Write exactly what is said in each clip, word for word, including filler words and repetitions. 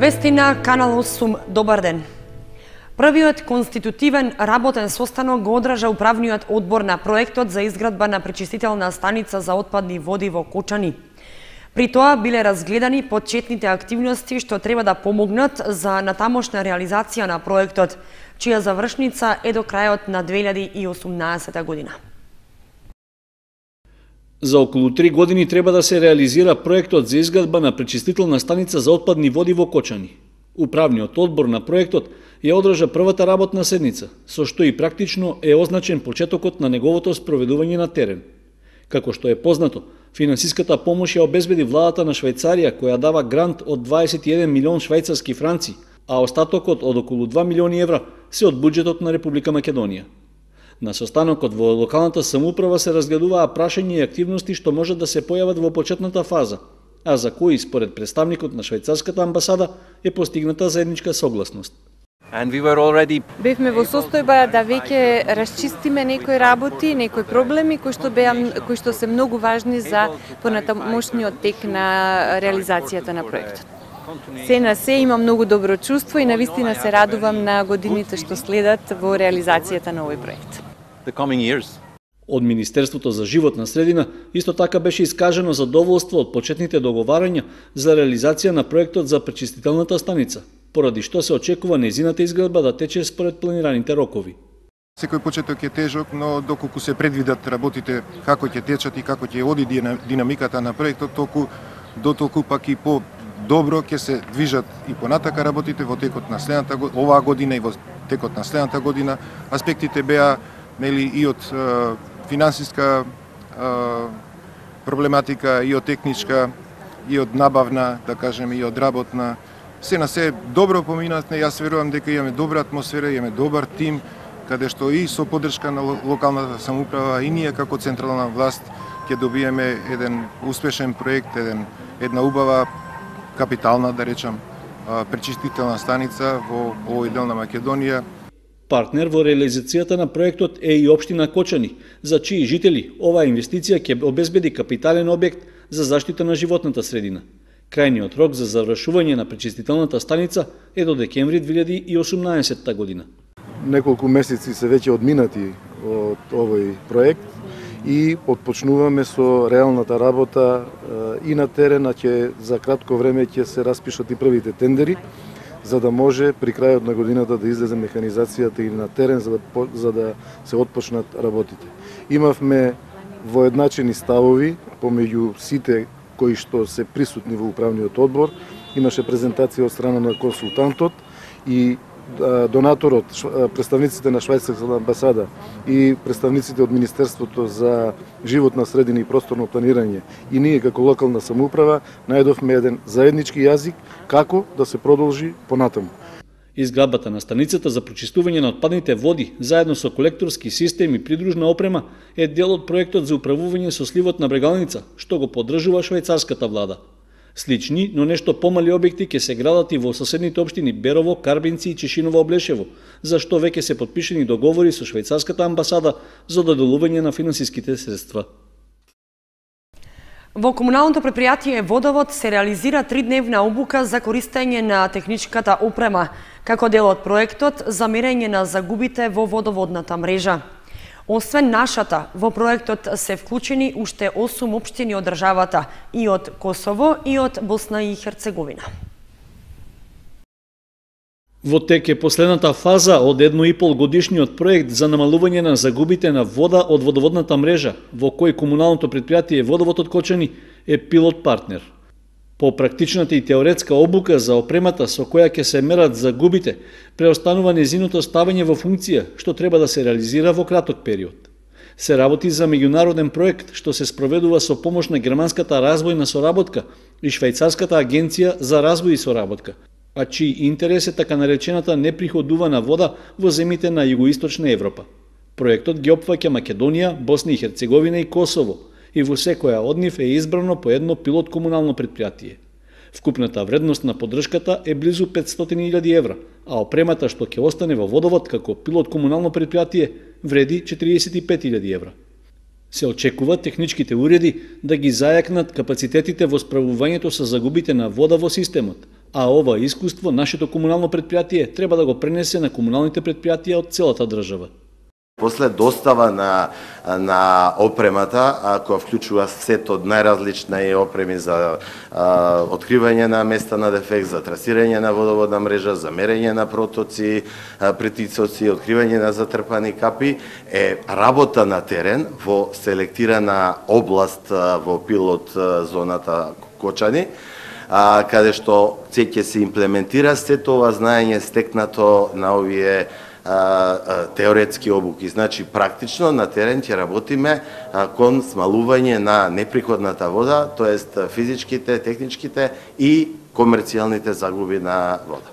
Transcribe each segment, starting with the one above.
Вести на Канал осум, добар ден. Првиот конститутивен работен состанок го одржа управниот одбор на проектот за изградба на пречистителна станица за отпадни води во Кочани. При тоа биле разгледани почетните активности што треба да помогнат за натамошна реализација на проектот, чија завршница е до крајот на две илјади и осумнаесета година. За околу три години треба да се реализира проектот за изградба на пречистителна станица за отпадни води во Кочани. Управниот одбор на проектот ја одржа првата работна седница, со што и практично е означен почетокот на неговото спроведување на терен. Како што е познато, финансиската помош ја обезбеди владата на Швајцарија, која дава грант од дваесет и еден милион швајцарски франци, а остатокот од околу два милиони евра се од буџетот на Република Македонија. На состанокот во локалната самоуправа се разгледуваа прашања и активности што можат да се појават во почетната фаза, а за кои според представникот на швајцарската амбасада е постигната заедничка согласност. And we were already... Бевме во состојба да веќе расчистиме некои работи, некои проблеми кои што беа кои што се многу важни за понатамошниот тек на реализацијата на проектот. Се на се има многу добро чувство и навистина се радувам на годините што следат во реализацијата на овој проект. The coming years. Од Министерството за животна средина исто така беше искажено задоволство од почетните договарања за реализација на проектот за пречистителната станица, поради што се очекува нејзината изградба да тече според планираните рокови. Секој почеток е тежок, но доколку се предвидат работите како ќе течат и како ќе оди динамиката на проектот, толку дотолку пак и по добро ќе се движат и понатака работите во текот на следната оваа година и во текот на следната година. Аспектите беа нели и од е, финансиска е, проблематика, и од техничка, и од набавна, да кажеме, и од работна. Се на се добро поминатне, јас верувам дека имаме добра атмосфера, имаме добар тим, каде што и со поддршка на локалната самоуправа и ние како централна власт ќе добиеме еден успешен проект, еден една убава капитална, да речам, пречистителна станица во овој дел на Македонија. Партнер во реализацијата на проектот е и општина Кочани, за чии жители оваа инвестиција ќе обезбеди капитален објект за заштита на животната средина. Крајниот рок за завршување на пречистителната станица е до декември две илјади и осумнаесета година. Неколку месеци се веќе одминати од овој проект и отпочнуваме со реалната работа и на терен, а ќе за кратко време ќе се распишат и првите тендери, за да може при крајот на годината да излезе механизацијата и на терен за да, за да се отпочнат работите. Имавме воедначени ставови помеѓу сите кои што се присутни во управниот одбор. Имаше презентација од страна на консултантот и донаторот, представниците на швајцарската амбасада и представниците од Министерството за животна средина и просторно планирање и ние како локална самоуправа најдовме еден заеднички јазик како да се продолжи понатаму. Изградбата на станицата за прочистување на отпадните води заедно со колекторски систем и придружна опрема е дел од проектот за управување со сливот на Брегалница, што го поддржува швајцарската влада. Слични, но нешто помали објекти ќе се градат и во соседните општини Берово, Карбинци и Чешиново-Облешево, за што веќе се потпишени договори со швајцарската амбасада за доделување на финансиските средства. Во комуналното предпријатие Водовод се реализира тридневна обука за користење на техничката опрема, како дел од проектот за мерење на загубите во водоводната мрежа. Освен нашата, во проектот се вклучени уште осум општини од државата, и од Косово и од Босна и Херцеговина. Во тек е последната фаза од едно и пол годишниот проект за намалување на загубите на вода од водоводната мрежа, во кој комуналното предпријатие Водовод од Кочани е пилот партнер. По практичната и теоретска обука за опремата со која ќе се мерат загубите, преостанува незиното ставање во функција, што треба да се реализира во краток период. Се работи за меѓународен проект што се спроведува со помош на германската развојна соработка и швајцарската агенција за развој и соработка, а чиј интерес е така наречената неприходувана вода во земите на југоисточна Европа. Проектот ги опфаќа Македонија, Босна и Херцеговина и Косово, и во секоја од нив е избрано по едно пилот комунално предпријатие. Вкупната вредност на поддршката е близу петстотини илјади евра, а опремата што ќе остане во Водовод како пилот комунално предпријатие вреди четириесет и пет илјади евра. Се очекува техничките уреди да ги зајакнат капацитетите во справувањето со загубите на вода во системот, А ова искуство нашето комунално предпријатие треба да го пренесе на комуналните предпријатија од целата држава. После достава на, на опремата, која вклучува сет од најразлични опреми за а, откривање на места на дефект, за трасирање на водоводна мрежа, за мерење на протоци, а, притицоци, откривање на затрпани капи, е работа на терен во селектирана област а, во пилот а, зоната Кочани, а, каде што ќе се имплементира сето ова знаење стекнато на овие а, а, теоретски обуки. Значи, практично на терен ќе работиме а, кон смалување на неприходната вода, тоест физичките, техничките и комерцијалните загуби на вода.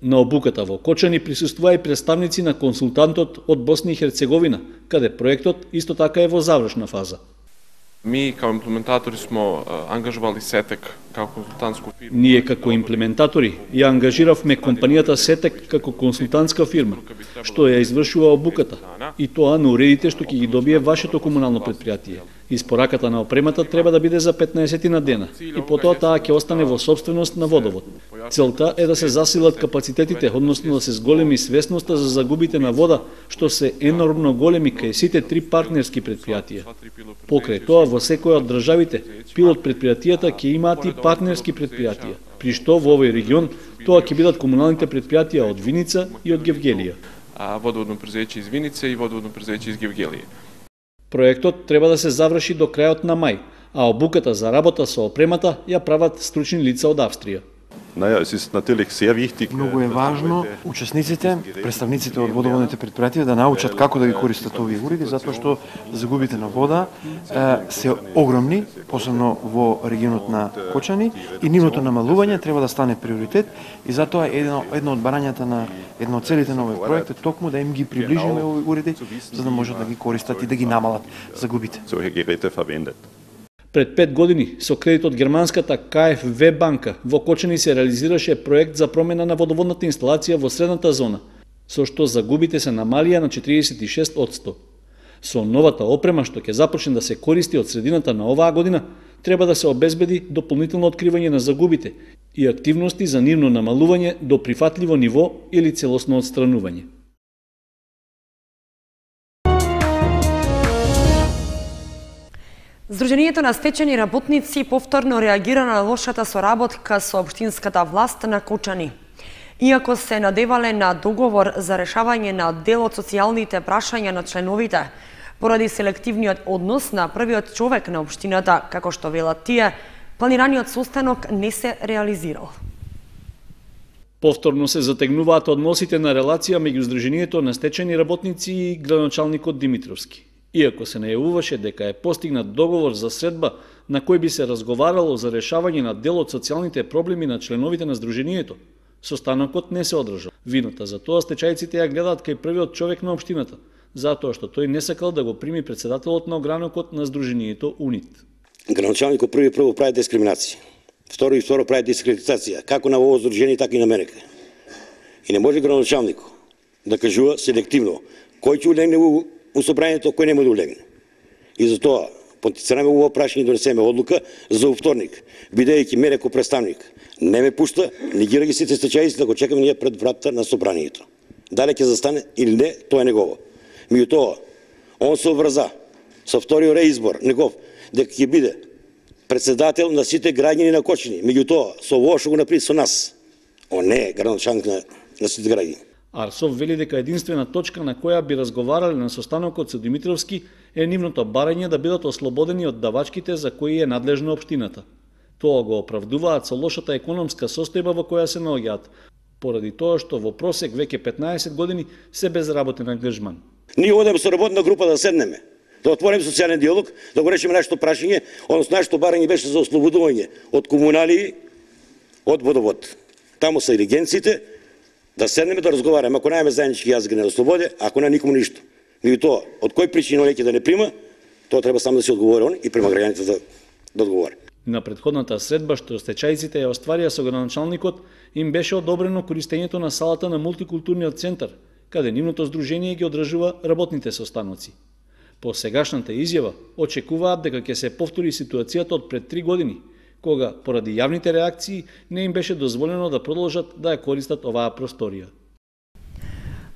На обуката во Кочани присуствува и представници на консултантот од Босна и Херцеговина, каде проектот исто така е во завршна фаза. Ми, као имплементатори, смо ангажували Сетек како консултантско фирма. Ние како имплементатори ја ангажиравме компанијата Сетек како консултантска фирма, што ја извршува обуката, и тоа на уредите што ќе ги добие вашето комунално предпријатие. Испораката на опремата треба да биде за петнаесет на дена и потоа таа ќе остане во сопственост на Водовод. Целта е да се засилат капацитетите, односно да се зголеми свесноста за загубите на вода, што се енормно големи кај сите три партнерски предпријатија. Покрај тоа, во секоја од државите, пилот предпријатијата ќе имаат и партнерски предпријатија, при што во овој регион тоа ќе бидат комуналните предпријатија од Виница и од Гевгелија. А водоводно презеće из Винице и водоводно презеće из Гевгелија. Проектот треба да се заврши до крајот на мај, а обуката за работа со опремата ја прават стручни лица од Австрија. Многу е важно учесниците, представниците од водоводните предпријатија да научат како да ги користат овие уреди, затоа што загубите на вода е, се огромни, посебно во регионот на Кочани, и нивното намалување треба да стане приоритет, и затоа едно, едно од барањата на едно од целите на овој проект е токму да им ги приближиме овие уреди, за да можат да ги користат и да ги намалат загубите. Пред пет години, со кредит од германската Ка Еф Ве банка, во Кочани се реализираше проект за промена на водоводната инсталација во средната зона, со што загубите се намалија на четириесет и шест одсто. Со новата опрема што ќе започне да се користи од средината на оваа година, треба да се обезбеди дополнително откривање на загубите и активности за нивно намалување до прифатливо ниво или целосно отстранување. Сдруженијето на стечени работници повторно реагира на лошата соработка со општинската власт на Кочани. Иако се надевале на договор за решавање на дел од социјалните прашања на членовите, поради селективниот однос на првиот човек на општината, како што велат тие, планираниот состанок не се реализирал. Повторно се затегнуваат односите на релација меѓу Сдруженијето на стечени работници и градоначалникот Димитровски. Иако се најавуваше дека е постигнат договор за средба на кој би се разговарало за решавање на дел од социјалните проблеми на членовите на Сдруженијето, состанокот не се одржал. Вината за тоа стечајците ја гледаат кај првиот човек на општината, затоа што тој не сакал да го прими председателот на огранокот на Сдруженијето УНИТ. Градоначалникот први прво прави дискриминација, второ и второ прави дискредитација, како на ово Сдружение, така и на мене. И не може градоначалникот да кажува селективно кој ќе улегне во у собранието, кој нема да улегне. И затоа потицираме ово прашање да донесеме одлука за вторник, бидејќи мене како представник не ме пушта, не ги раги сите стечајци да го чекаме ние пред вратата на собранието. Дали ќе застане или не, тоа е негово. Меѓутоа, он се обврза со вториот реизбор негов дека ќе биде председател на сите граѓани на Кочани. Меѓутоа, со ово што го направи со нас, он не е градоначалник на, на сите граѓани. Арсов вели дека единствена точка на која би разговарале на состанокот со Димитровски е нивното барање да бидат ослободени од давачките за кои е надлежна општината. Тоа го оправдуваат со лошата економска состојба во која се наоѓаат, поради тоа што во просек веќе петнаесет години се безработен ангажман. Ние одеме со работна група да седнеме, да отвориме социјален диалог, да го решиме нашето прашање, односно нашето барање беше за ослободување од комунали, од водовод. Таму се агенциите, да седнеме да разговараме, ако немаме заеднички јазик не ослободи, ако не никому ништо. Меѓутоа, од кој причина леќе да не прима, тоа треба само да се одговори он и према граѓаните да, да одговори. На предходната средба што стечајците ја остварија со градоначалникот, им беше одобрено користењето на салата на мултикултурниот центар, каде нивното здружение ги одржува работните состаноци. По сегашната изјава, очекуваат дека ќе се повтори ситуацијата од пред три години, кога поради јавните реакции не им беше дозволено да продолжат да ја користат оваа просторија.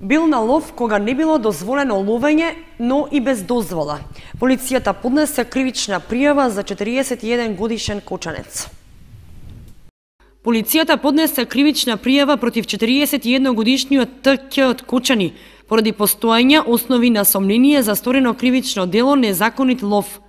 Бил на лов кога не било дозволено ловење, но и без дозвола. Полицијата поднесе кривична пријава за четириесет и еден годишен кочанец. Полицијата поднесе кривична пријава против четириесет и еден годишниот Т Қ од Кочани поради постоење основи на сомнение за сторено кривично дело незаконит лов.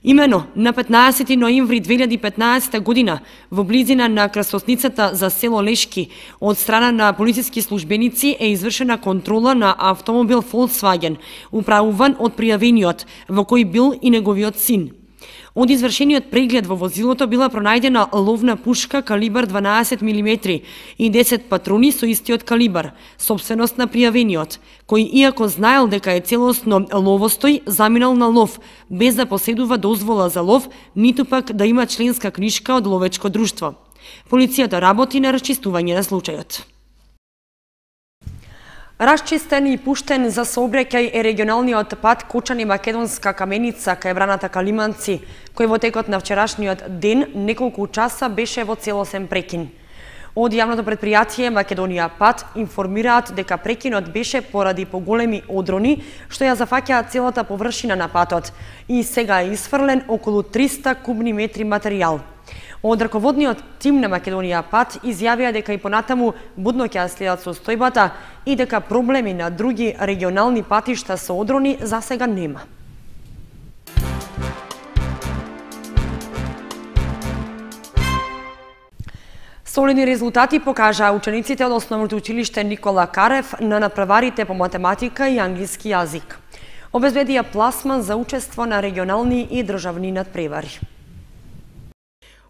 Имено, на петнаесети ноември две илјади и петнаесета година, во близина на крстосницата за село Лешки, од страна на полициски службеници е извршена контрола на автомобил Volkswagen, управуван од пријавениот, во кој бил и неговиот син. Од извршениот преглед во возилото била пронајдена ловна пушка калибар дванаесет милиметри и десет патрони со истиот калибар, собственост на пријавениот, кој иако знаел дека е целосно ловостој, заминал на лов, без да поседува дозвола за лов, ниту пак да има членска книшка од ловечко друштво. Полицијата работи на расчистување на случајот. Расчистен и пуштен за сообраќај е регионалниот пат Кочани-Македонска Каменица кај браната Калиманци, кој во текот на вчерашниот ден неколку часа беше во целосен прекин. Од јавното предпријатие Македонија пат информираат дека прекинот беше поради поголеми одрони што ја зафаќаат целата површина на патот и сега е исфрлен околу триста кубни метри материјал. Од раководниот тим на Македонија пат изјавија дека и понатаму будно ќе следат состојбата и дека проблеми на други регионални патишта со одрони за сега нема. Солидни резултати покажаа учениците од основното училиште Никола Карев на надпреварите по математика и англиски јазик. Обезбедија пласман за учество на регионални и државни надпревари.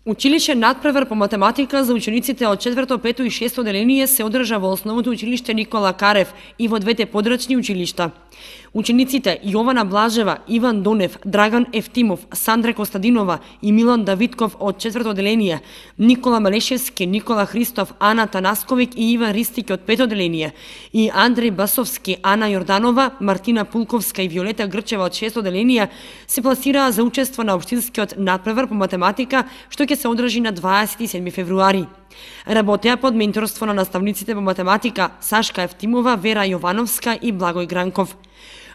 Училиште надпревар по математика за учениците од четврто, пето и шесто одделение се одржа во основното училиште Никола Карев и во двете подрачни училишта. Учениците Јована Блажева, Иван Донев, Драган Ефтимов, Сандра Костадинова и Милан Давидков од четврто одделение, Никола Малешевски, Никола Христов, Ана Танасковик и Иван Ристик од пето одделение и Андреј Басовски, Ана Јорданова, Мартина Пулковска и Виолета Грчева од шесто одделение се пласираа за учество на општинскиот надпревар по математика што ќе се одржи на дваесет и седми февруари. Работеа под менторство на наставниците по математика Сашка Ефтимова, Вера Јовановска и Благој Гранков.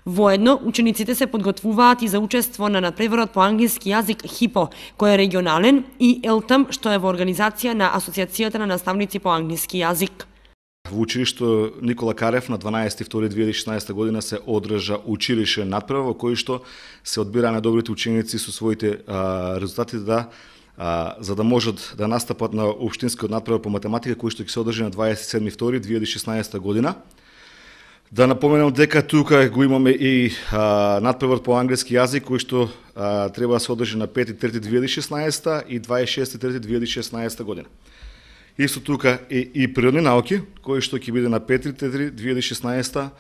Воедно, учениците се подготвуваат и за учество на надпреварот по англиски јазик ХИПО, кој е регионален, и ЕЛТАМ, што е во организација на Асоциацијата на наставници по англиски јазик. Во училишто Никола Карев на дванаесети февруари две илјади и шеснаесета година се одржа училишен надпревар во кој што се одбира на добрите ученици со своите а, резултати да а, за да можат да настапат на општинскиот надпревар по математика кој што ќе се одржи на дваесет и седми февруари две илјади и шеснаесета година. Да напоменам дека тука го имаме и а, надпревар по англиски јазик кој што а, треба да се одржи на пети трети две илјади и шеснаесета и дваесет и шести трети две илјади и шеснаесета година. Исто тука е и природни науки кој што ќе биде на пети трети две илјади и шеснаесета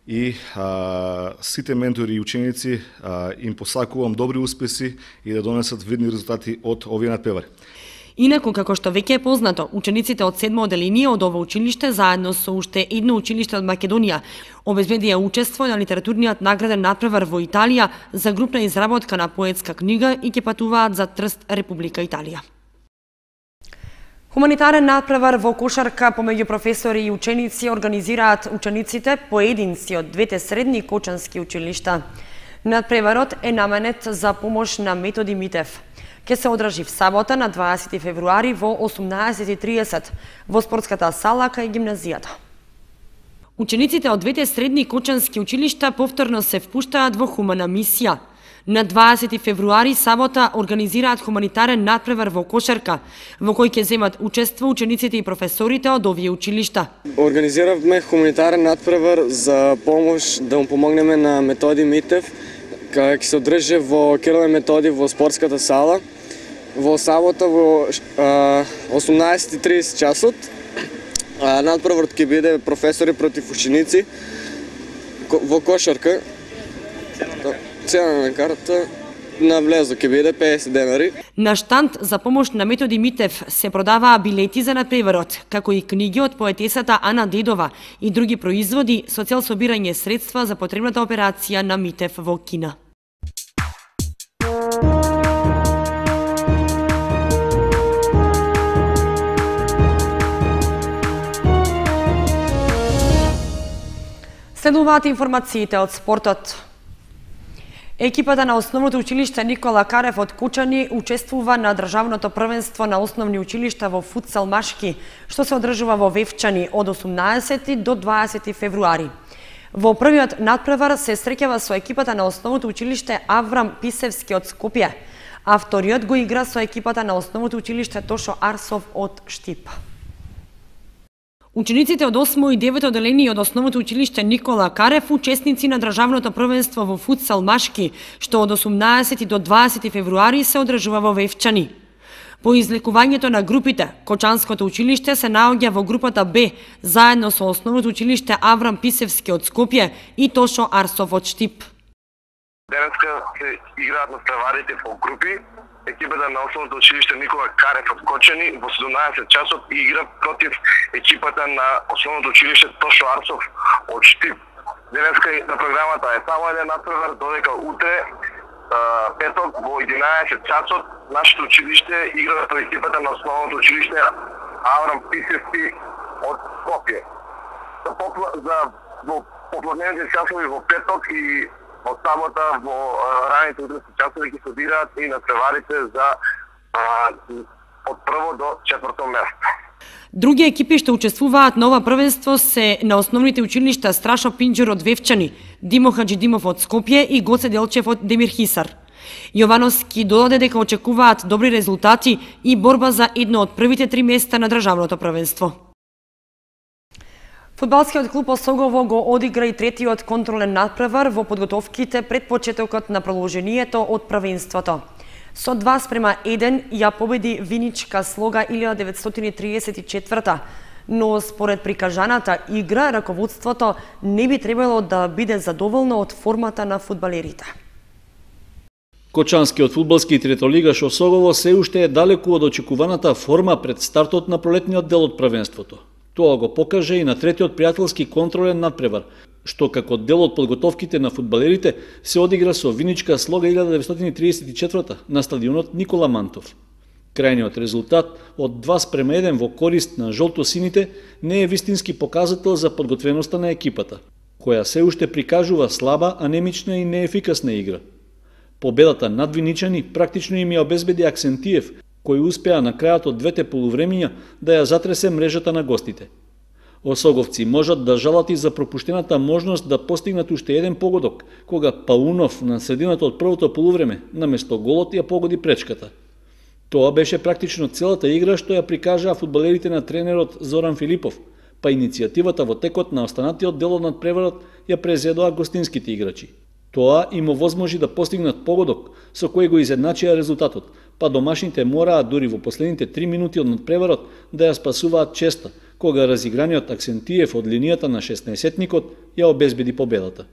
и а, сите ментори и ученици а, им посакувам добри успеси и да донесат видни резултати од овие надпревари. Инаку, како што веќе е познато, учениците од седмо одделение од ова училиште заедно со уште едно училиште од Македонија обезбедија учество на литературниот награден надпревар во Италија за групна изработка на поетска книга и ќе патуваат за Трст, Република Италија. Хуманитарен надпревар во кошарка помеѓу професори и ученици организираат учениците поединци од двете средни кочански училишта. Надпреварот е наменет за помош на Методи Митев. Ке се одржи в сабота на дваесети февруари во осумнаесет и тридесет во спортската сала кај гимназијата. Учениците од двете средни кочански училишта повторно се впуштаат во хумана мисија. На дваесети февруари сабота организираат хуманитарен надпревар во кошарка, во кој ќе земат учество учениците и професорите од овие училишта. Организиравме хуманитарен надпревар за помош да му помогнеме на Методи Митев, кај ќе се одржи во Кириле Методи во спортската сала во сабота во осумнаесет и тридесет часот. Надпреварот ќе биде професори против ученици во кошарка. Цена на карта на влезо ќе биде песет денари. На штанд за помош на Методи Митев се продаваа билети за надпреварот, како и книги од поетесата Ана Дедова и други производи со цел собирање средства за потребната операција на Митев во Кина. Следуваат информациите од спортот. Екипата на Основното училиште Никола Карев од Кучани учествува на државното првенство на основни училишта во футсал машки, што се одржува во Вевчани од осумнаесети до дваесети февруари. Во првиот надпревар се среќава со екипата на Основното училиште Аврам Писевски од Скопје, а вториот го игра со екипата на Основното училиште Тошо Арсов од Штип. Учениците од осмо и девето одделение од Основното училиште Никола Карев, учесници на државното првенство во футсал машки, што од осумнаесети до дваесети февруари се одржува во Вевчани. По излекувањето на групите, Кочанското училиште се наоѓа во групата Б, заедно со Основното училиште Аврам Писевски од Скопје и Тошо Арсов од Штип. Денеска се играат надпреварите по групи. Екипата на Основното училиште Никола Карев од Кочани во седумнаесет часот игра против екипата на Основното училиште Тошо Арсов од Штип. Денеска на програмата е само еден надпревар, додека утре петок во единаесет часот нашето училиште игра против екипата на Основното училиште Аврам Писевски од Скопје. За попла... за во попладневните часови во петок и од сабота во раните утрински часови ќе се одиграат и надпреварите за а, од прво до четврто место. Други екипи што учествуваат на ова првенство се на основните училишта Страшо Пинџер од Вевчани, Димо Хаџидимов од Скопје и Гоце Делчев од Демирхисар. Јовановски додаде дека очекуваат добри резултати и борба за едно од првите три места на државното првенство. Фудбалскиот клуб Осогово го одигра и третиот контролен надпревар во подготовките пред почетокот на продолжението од првенството. Со два спрема еден ја победи Виничка Слога илјада деветстотини триесет и четврта, но според прикажаната игра, раководството не би требало да биде задоволно од формата на фудбалерите. Кочанскиот фудбалски третолигаш Осогово се уште е далеку од очекуваната форма пред стартот на пролетниот дел од првенството. Тоа го покаже и на третиот пријателски контролен надпревар, што како дел од подготовките на фудбалерите се одигра со Виничка Слога илјада деветстотини триесет и четврта на стадионот Никола Мантов. Крајниот резултат од два спрема еден во корист на жолто-сините не е вистински показател за подготвеноста на екипата, која се уште прикажува слаба, анемична и неефикасна игра. Победата над Виничани практично им ја обезбеди Аксентиев, кој успеа на крајот од двете полувремиња да ја затресе мрежата на гостите. Осоговци можат да жалат и за пропуштената можност да постигнат уште еден погодок, кога Паунов на средината од првото полувреме, наместо голот ја погоди пречката. Тоа беше практично целата игра што ја прикажаа фудбалерите на тренерот Зоран Филипов, па иницијативата во текот на останатиот дел од надпреварот ја презедоа гостинските играчи. Тоа им овозможи да постигнат погодок, со кој го изедначија резултатот, па домашните мораа дури во последните три минути од надпреварот да ја спасуваат честа, кога разиграниот Аксентиев од линијата на шеснаесетникот ја обезбеди победата.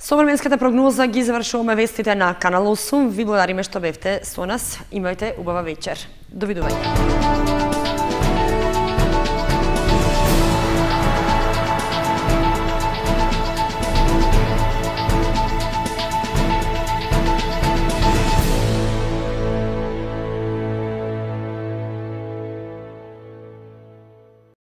Со временската прогноза ги завршуваме вестите на Канал осум. Ви благодариме што бевте со нас. Имајте убава вечер. Довидување.